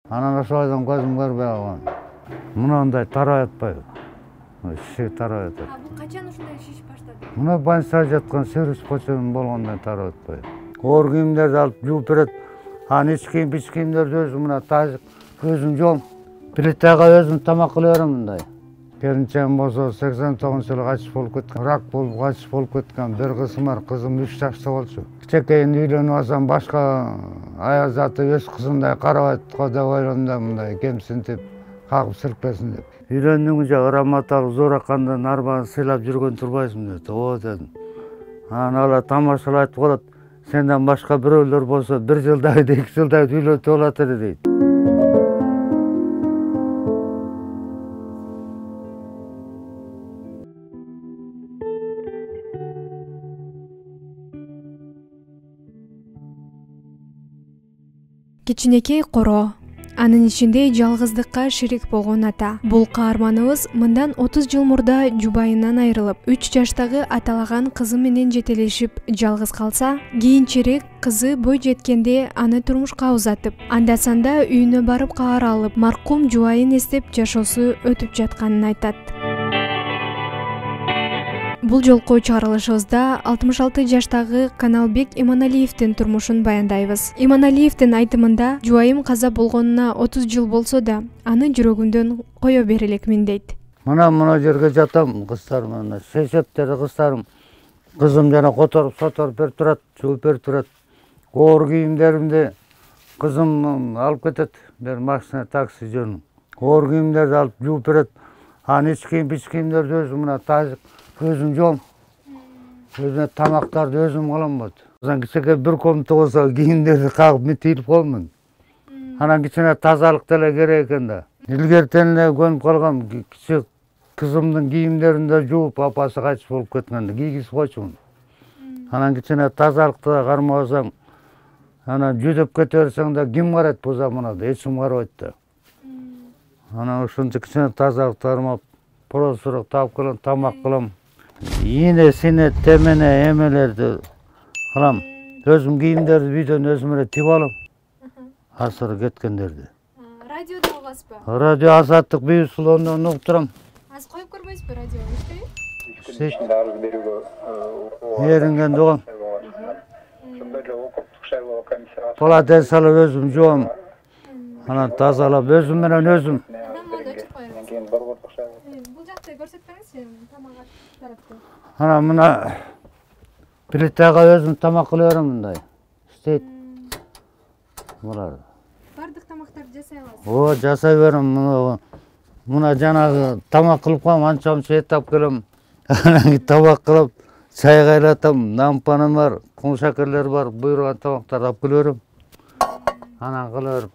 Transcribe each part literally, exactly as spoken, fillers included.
Анан ошойдон көзүм көрбөй калган. Мынандай тарай атпайбы? Шишек тарай атат. А бул качан ушундай шишип баштады? Мына больницада жаткан сервис почем болгондон тарай атпайбы? Оор кийимдерди алып жууп берет. Анан ич кийим, бич кийимдерди өзүм мына тазы өзүм жуам. Плитага өзүм тамак кыла берем мындай. Келинчегим болсо сексен тогузунчу жылы качып болуп кеткен. Рак болуп качып болуп кеткен. Бир кызым бар, кызым үч жашта болчу. Кичекейин үйлөнүп алсам башка аял заты өз кызындай карабайт го деп ойлодум да, мындай кемсинтип, кагып сиркпесин деп. Үйлөндүң жагы раматалык Зооракандан арбаны сыйлап жүргөн турбайсың деп. О дедим. Анан алар тамашалап айтып калат. Сенден башка бирөөлөр болсо бир жылдай, эки жылдай үйлөтүп алат эле дейт. Кичинекей коро, анын ичинде жалгыздыкка шерик болгон ата. Бул каарманыбыз мындан отуз жыл мурда жубайынан айрылып, үч жаштагы аталаган кызы менен жетелешип жалгыз калса, кийинчерээк кызы бой жеткенде аны турмушка узатып, анда-санда үйүнө барып каар алып, маркум жубайын эстеп жашоосу өтүп жатканын айтат. Бул жолку чыгарылышыбызда алтымыш алты жаштагы Каналбек Иманалиевдин турмушун баяндайбыз. Иманалиевдин айтымында жубайым каза болгонуна отуз жыл болсо да, аны жүрөгүмдөн кое бере элекмин дейт. Мына мына жерге жатам, кыздарым мына шешептери кыздарым. Кызым жана которуп соторуп берип турат, жууп берип турат. Оор кийимдеримди кызым алып кетет. Бир машина такси жөнү. Оор кийимдерди алып жууп берет. Анан ич кийим, бич кийимдерди өзүм мына тазы өзүм жуам. Өзүмө тамактарды өзүм кылам болот. Анан кичине бир комната болсо кийимдерди кагып митилип коемун. Анан кичине тазалык деле керек экен да. Илгертен эле көнүп калгам, кичи кызымдын кийимдерин да жууп, апасы кайтып болуп кеткенде кийгизип койчумун. Анан кичине тазалыкты да кармабасаң, анан жүдөп кете берсең да ким карайт бул заманада? Эч ким карабайт да. Анан ошончо кичине тазалыкты кармап, просурак таап келем, тамак кылам. Ийне, сине, темене, эмелерди кылам. Өзүм кийимдерди үйдөн өзүм эле тигип алам. Асыры кеткендерди. Радиодо албайсызбы? Радио Азаттык Бейбитсулууну угуп турам. Азыр коюп көрбөйсүзбү радиону? Иштейби? Иштейт. Эрингенди угам. Палатен салып өзүм жуам. Анан тазалап өзүм менен өзүм. Бул жакты көрсөтпөңүзчү, тамак тарапты. Анан мына плитага өзүм тамак кыла берем мындай. Иштейт. Булар. Бардык тамактарды жасай аласыз? О, жасай берем. Мына жанагы тамак кылып коем, анча-мынча эт алып келем. Анан тамак кылып, чай кайнатам, нампанам бар, кум шакерлер бар, буйруган тамактарды алып келе берем. Анан кыла берип.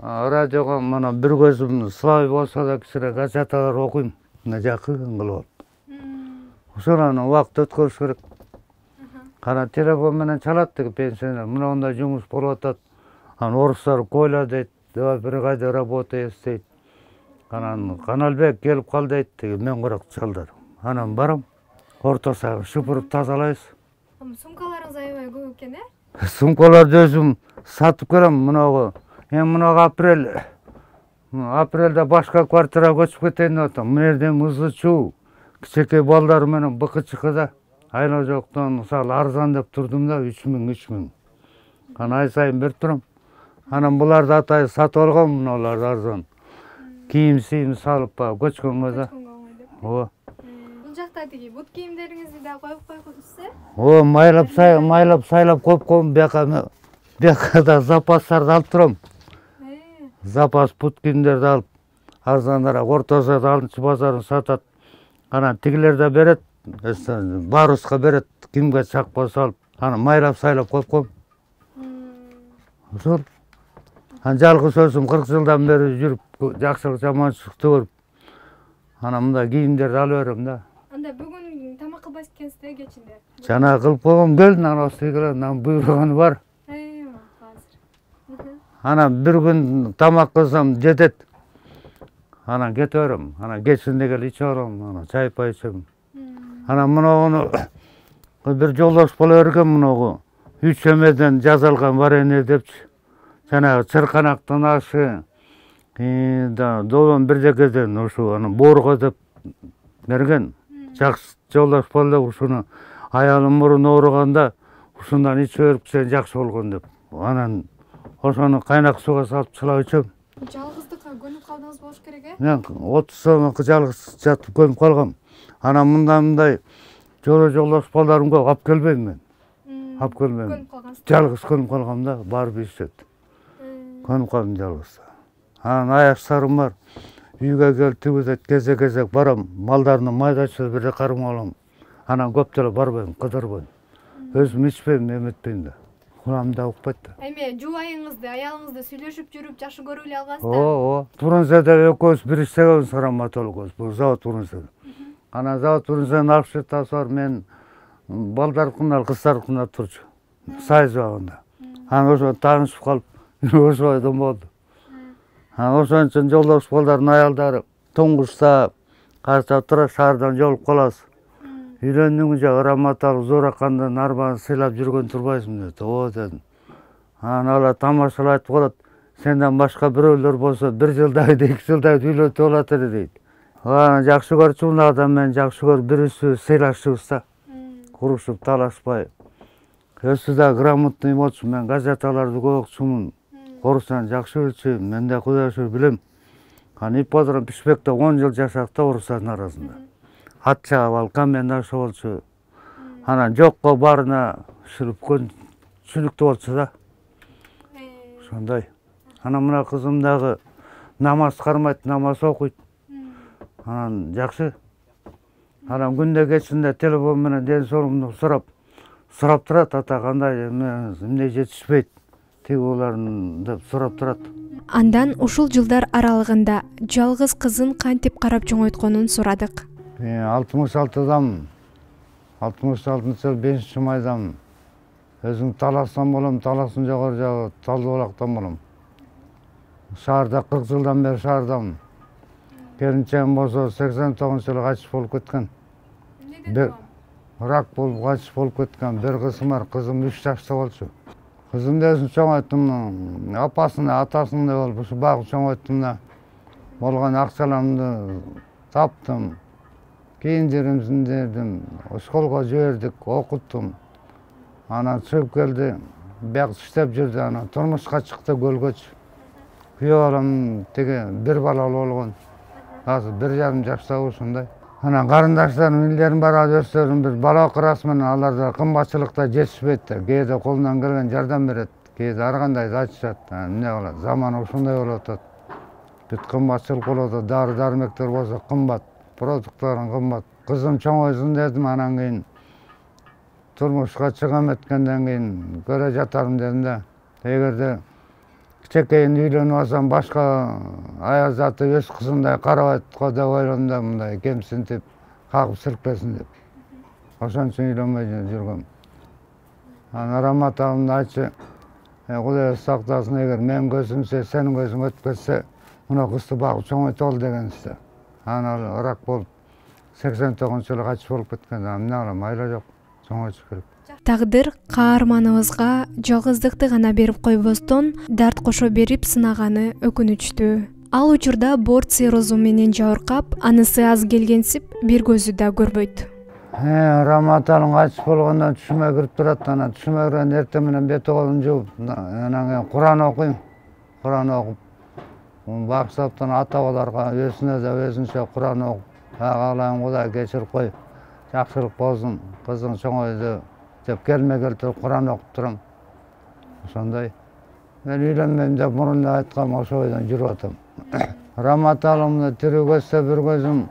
Радиого мына бир көзүм слабый болсо да кичине газеталар окуйм. Мына жакын кылып алып. Ошону убакыт өткөрүш керек. Кана телефон менен чалат деги пенсионер. Мына ондай жумуш болуп атат. Анан орустар койла дейт, давай бир кайда работай дейт. Анан Каналбек келип кал дейт деги мен курак чалдар. Анан барам. Орто сагы шупуруп тазалайбыз. Сумкаларыңыз аябай көп экен, э? Сумкаларды өзүм сатып келем мынагы. Эми мынагы апрель. Апрелде башка квартирага көчүп кетейин деп атам. Мына жерден ызы чуу. Кичекей балдар менен быкычыкыда. Айла жоктон мисалы арзан деп турдум да үч миң, үч миң. Анан ай сайын берип турам. Анан буларды атай сатып алгам, мыналарды арзан. Кийим сийим салып көчкөнгө да. Ооба. Бул жакта тиги бут кийимдериңизди да коюп койгонсуз, э? О, майлап сай, майлап сайлап коюп койгом. Бияка бияка да запастарды алып турам. Запас бут кийимдерди алып, арзаныраак ортосуда алтынчы базарын сатат. Анан тигилер да берет, баруска берет, кимге чакпа салып, анан майлап сайлап коюп коем. Ошол. Анан жалгыз өзүм кырк жылдан бери жүрүп, жакшылык жаманчылыкты көрүп, анан мындай кийимдерди алып берем да. Анда бүгүн тамак кылбайсыз экенсиз, э, кечинде? Жана кылып койгом, кел, нан ости кел, нан буйруганы бар. Эйва, азыр. Анан бир күн тамак кылсам жетет. Анан кете берем. Анан кечинде келип ичип алам, анан чай пай ичем. Анан мынагуну бир жолдош боло берген, мынагу үч эмеден жасалган варенье депчи. жанагы чырканактын ашы долон бирдекеден ушу аны боорго деп берген. Жакшы жолдош бол деп ушуну аялым мурун ооруганда ушундан ичип берипсең жакшы болгон деп. Анан ошону кайнак сууга салып чылап ичем. Жалгыздыкка көнүп калдыңыз болуш керек э? Мен отуз сомго жалгыз жатып көнүп калгам. Анан мындай мындай жоло жолдош балдарым көп алып келбейм мен. Алып келмейм. Көнүп калгансыз. Жалгыз көнүп калгам да, барып иштет. Көнүп калдым жалгыз. Анан аяктарым бар. Үйгө келип тибидет кезек-кезек барам. Малдардын майдачы бирде кармап алам. Анан көп деле барбайм, кыдырбайм. Өзүм ичпейм, эметпейм да. Кулам да укпайт да. Эми жубайыңызды, аялыңызды сүйлөшүп жүрүп жакшы көрүп эле алгансыз да? Ооба. Турунзеде экөөбүз бир иштегенбиз Раматол экөөбүз. Бул завод Турунзеде. Анан завод Турунзеден акчасы бар, мен балдаркынан, кыздаркынан турчу. Сайыз багында. Анан ошо таанышып калып, ошойдон болду. Анан ошон үчүн жолдош балдардын аялдары Тоңгушта карча тура шаардан жолуп калабыз. Үйлөндүң жа Раматал Зоракандын арбасын сыйлап жүргөн турбайсыңбы деп. Ооба дедим. Анан алар тамашалап айтып калат. Сенден башка бирөөлөр болсо бир жылдай, эки жылдай үйлөтүп алат эле дейт. Анан жакшы көрчү мына адам менен жакшы көрүп бирибизди сыйлашыбыз да. Курушуп талашпай. Өзү да грамотный болчу, мен газеталарды көп окучумун. Орустан жакшы билчүмүн, мен да Кудай шүгүр билем. Анан ипподром Пишпекте он жыл жашадык да орустардын арасында. Ат чаап алып комендант болчу. Анан жокко баарына сүрүпкөн сүлүктүү болчу да. Ошондой. Анан мына кызым дагы намаз кармайт, намаз окуйт. Анан жакшы. Анан күндө кечинде телефон менен ден соолугумду сурап, сурап турат, ата кандай, эмне жетишпейт, тиги буларын деп сурап турат. Андан ушул жылдар аралыгында жалгыз кызын кантип карап чоңойтконун сурадык. алтымыш алтыдамын. алтымыш алтынчы жыл бешинчи майдамын. Өзүм Таластан болом, Таластын жогору жагы Талды Булактан болом. Шаарда кырк жылдан бери шаардамын. Келинчегим болсо сексен тогузунчу жылы кайтыш болуп кеткен. Бир рак болуп кайтыш болуп кеткен. Бир кызым бар, кызым үч жашта болчу. Кызымды өзүм чоңойттум, апасын, атасындай болуп ушу багып чоңойттум да. Болгон акчаларымды таптым. Кийиндиримдим, школго жибердик, окуттум. Анан чыгып келди, бияк иштеп жүрдү, анан турмушка чыкты көлгөчү. Күйөө балам теге бир балалуу болгон. Азыр бир жарым жашта ушундай. Анан карындаштарым, индерим бар, өздөрүнүн бир бала кырасы менен алар да кымбатчылыкта жетишпейт да. Кээде колунан келген жардам берет, кээде ар кандайды айтышат. Эмне кылат? Заман ушундай болуп атат. Бүт кымбатчылык болуп атат, дары-дармектер болсо кымбат, продукттарын кымбат. Кызым чоңойсун дедим, анан кийин турмушка чыгам эткенден кийин көрө жатармын дедим да. Эгерде кичекейин үйлөнүп алсам башка аял заты өз кызымдай карабайт го деп ойлодум да, мындай кемсинтип, кагып сиркпесин деп. Ошон үчүн үйлөнбөй жүргөм. Анан Раматалымды айтчы, Кудай сактасын, эгер менин көзүмсө, сенин көзүң өтүп кетсе, мына кызды багып чоңойт ал дегенсиз. Анан ал рак болуп сексен тогузунчу жылы кайтыш болуп кеткен. Эмне кылам, айла жок, чоңойтуш керек. Тагдыр каарманыбызга жалгыздыкты гана берип койбостон, дарт кошо берип сынаганы өкүнүчтүү. Ал учурда борт циррозу менен жабыркап, анысы аз келгенсип, бир көзү да көрбөйт. Раматалым кайтыш болгондон түшүмө кирип турат, анан түшүмө киргенде эртең менен бет колун жууп, анан кийин Куран окуйм. Куран окуп, баксаптан ата-бабаларга өзүнө да өзүнчө Куран окуп, агалайым Кудай кечирип кой, жакшылык болсун, кызың чоңойду деп келме келтирип Куран окуп турам. Ошондой. Мен үйлөнмөйм деп мурун да айткам, ошо бойдон жүрүп атам. Раматалымды тирүү көзсө бир көзүм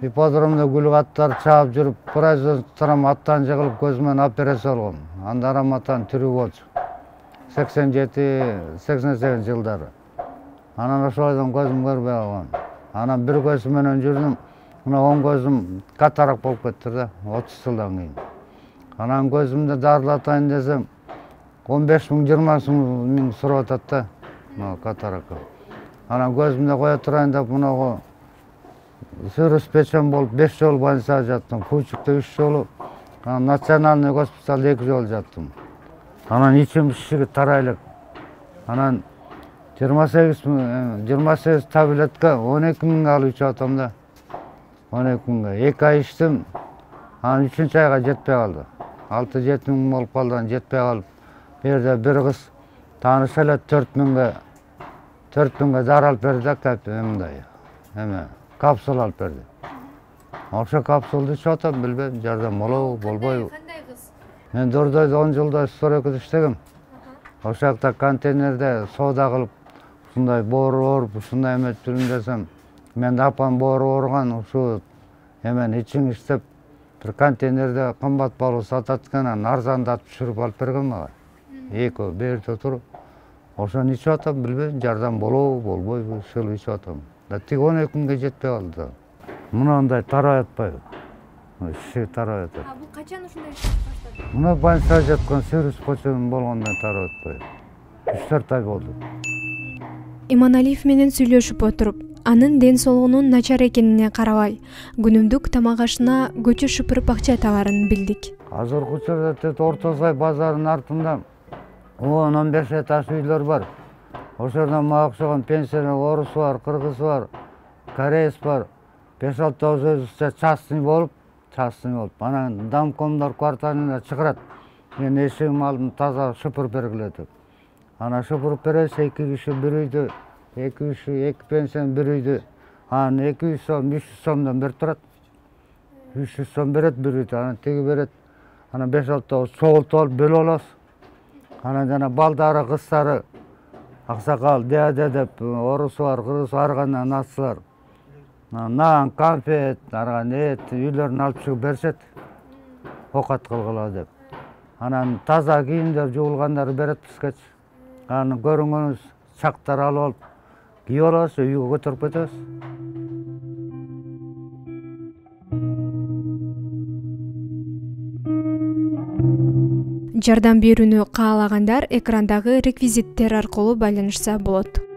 ипподромдо гүл каттар чаап жүрүп, производством аттан жыгылып көзүмөн операция болгон. Анда Раматан тирүү болчу. сексен жети сексен сегизинчи жылдары. Анан ошойдон көзүм көрбөй калган. Анан бир көзүм менен жүрдүм. Мына оң көзүм катарак болуп кетти да, отуз жылдан кийин. Анан көзүмдү дарылатайын десем, он беш миң жыйырма миң сурап атат да, мына катаракка. Анан көзүмдү кое турайын деп мынагу сөрөс печен болуп беш жолу больницада жаттым, Кучукта үч жолу, анан национальный госпиталда эки жолу жаттым. Анан ичим шишиги тарай элек. Анан жыйырма сегиз жыйырма сегиз таблетка он эки миңге алып ичип атам да. он эки миңге. эки ай ичтим. Анан үчүнчү айга жетпей калды. алты жети миң болуп калды, анан жетпей калып, бу жерде бир кыз тааныш эле төрт миңге төрт миңге дары алып берди да, мындай. Эме, капсула алып берди. Ошо капсулду ичип атам, билбейм, жардам болобу, болбойбу. Кандай кыз? Мен Дордойдо он жылдай стройкада иштегем. Ошол жакта контейнерде соода кылып, ушундай боору ооруп, ушундай эметип жүрүм десем, менин апам боору ооруган, ушу эмени ичиң иштеп, бир контейнерде кымбат баалуу сатат экен, анан арзандатып түшүрүп алып берген мага. Экөө берде туруп, ошону ичип атам, билбейм, жардам болобу, болбойбу, ушул ичип атам. Да тиги он эки миңге жетпей калды да. Мынандай тарай атпайбы? Иши тарай атат. А бул качан ушундай иштеп баштады? Мына больницада жаткан Сервис Почем болгондон тарай атпайбы? үч төрт ай болду. Иманалиев менен сүйлөшүп отуруп, анын ден соолугунун начар экенине карабай, күнүмдүк тамак ашына көчө шыпырып акча табарын билдик. Азыркы учурда Орто Сай базарынын артында он он беш этаж үйлөр бар. Ошордон мага окшогон пенсионер орус бар, кыргыз бар, кореец бар. беш алты өзүбүзчө частный болуп, частный болуп. Анан домкомдор кварталына чыгарат. Мен эшигим алдым таза шыпырып бергиле деп. Анан шыпырып беребиз, эки киши бир үйдө, эки киши, эки пенсион бир үйдө. Анан эки жүз сом, үч жүз сомдон берип турат. үч жүз сом берет бир үйдө, анан тиги берет. Анан беш алты чогултуп алып бөлүп алабыз. Анан жана балдары, кыздары, аксакал, дяде деп, орусу бар, кыргызы ар кандай насылар. Нан, конфет, арган эт, үйлөрүнө алып чыгып беришет. Окат кылгыла деп. Анан таза кийимдер жуулгандарды берет бизгечи. Анан көрүнгөнүбүз чактар алып алып кийип алабыз, үйгө көтөрүп кетебиз. Жардам берүүнү каалагандар экрандагы реквизиттер аркылуу байланышса болот.